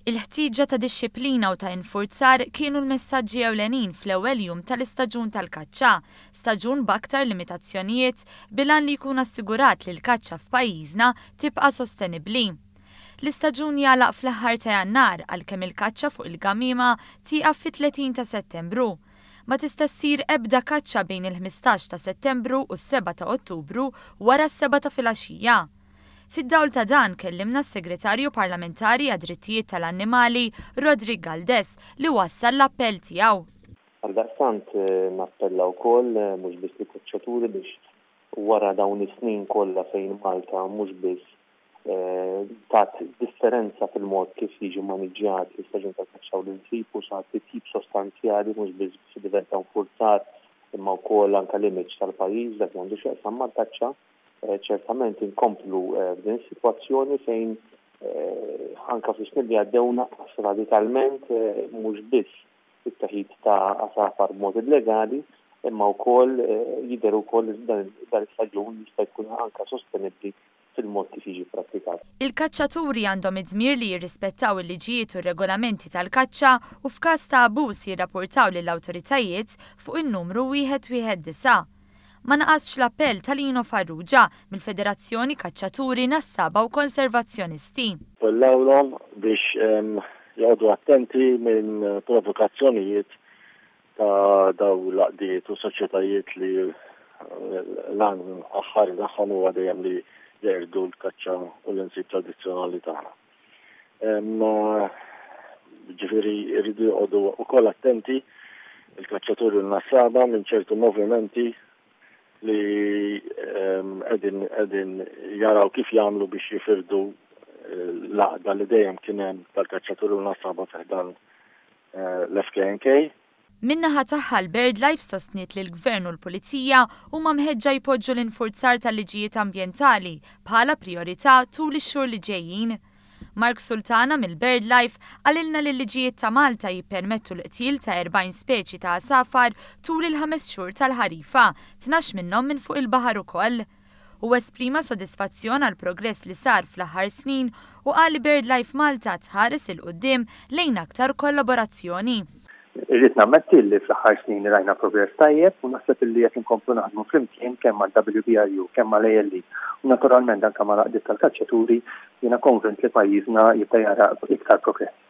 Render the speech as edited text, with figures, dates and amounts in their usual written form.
Il-ħtieġa ta' dixxiplina u ta' infurzar kienu l-messaġġi ewlenin fl-ewwel jum tal-istaġun tal-kaċċa, staġun b'aktar limitazzjonijiet bil-għan li jkun assigurat li l-kaċċa f'pajjiżna tibqa' sostenibbli. L-istaġun jagħlaq fl-aħħar ta' Jannar għalkemm il-kaċċa fuq il-gamiema tieqaf fit-30 ta' Settembru. Ma tista' ssir ebda kaċċa bejn il-15 ta' Settembru u s-sebgħa ta' Ottubru wara s-sebgħa ta' filgħaxija. Fid-dawl ta' dan kellimna s-Segretarju Parlamentari għad-Drittijiet tal-Annimali Roderick Galdes li wassal l-appell tiegħu. Għaldaqstant nappella wkoll mhux biss lill-kaċċaturi biex wara dawn is-snin kollha fejn Malta mhux biss tat differenza fil-mod kif jiġi maniġġjat l-istaġun tal-kaċċa u l-insib u sar titjib sostanzjali mhux biss fil-livell ta' infurzar imma wkoll anke l-image tal-pajjiż dak li għandu x'jaqsam mal-kaċċa. Ċertament inkomplu f'din is-sitwazzjoni fejn anke fis-snin li għaddew naqas radikalment mhux biss it-teħid ta' għasafar b'mod illegali imma wkoll jidher ukoll li dan l-istaġun jista' jkun anke sostenibbli fil-mod kif jiġi pprattikat. Il-kaċċaturi għandhom id-dmir li jirrispettaw il-liġijiet u r-regolamenti tal-kaċċa u f'każ ta' abbuż jirrapportaw lill-awtoritajiet fuq in-numru 119. Ma naqasx l-appell ta' Lino Farrugia mill-Federazzjoni Kaċċaturi Nassaba u Konservazzjonisti. Appellawlhom biex joqogħdu attenti minn provokazzjonijiet ta' dawn l-għaqdiet u soċjetajiet li l-għan aħħari tagħhom huwa dejjem li jeqirdu l-kaċċa u l-insib tradizzjonali tagħna. Ġifieri jridu joqogħdu wkoll attenti il-kaċċaturi u l-nassaba minn ċertu movimenti li qegħdin qegħdin jaraw kif jagħmlu biex jifirdu l-għaqda li dejjem kien hemm tal-kaċċaturi u l-nassaba fi ħdan l-FKNK. Min-naħa tagħha l-BirdLife sostniet li l-Gvern u l-Pulizija huma mħeġġa jpoġġu l-infurzar tal-liġijiet ambjentali bħala prijorità tul ix-xhur li ġejjin. Mark Sultana mill-BirdLife qalilna li l-liġijiet ta' Malta jippermettu l-qtil ta' 40 speċi ta' għasafar tul il-ħames xhur tal-ħarifa, 12 minnhom minn fuq il-baħar ukoll. Huwa esprima sodisfazzjon għall-progress li sar fl-aħħar snin u qal li BirdLife Malta tħares 'il quddiem lejn aktar kollaborazzjoni. Irrid nammetti li fl-aħħar snin rajna progress tajjeb u naħseb illi jekk inkomplu naħdmu flimkien kemm mal-WBRU, kemm mal-ALE u naturalment anke mal-għaqdiet tal-kaċċaturi, jiena konvint li pajjiżna jibda jara iktar progress.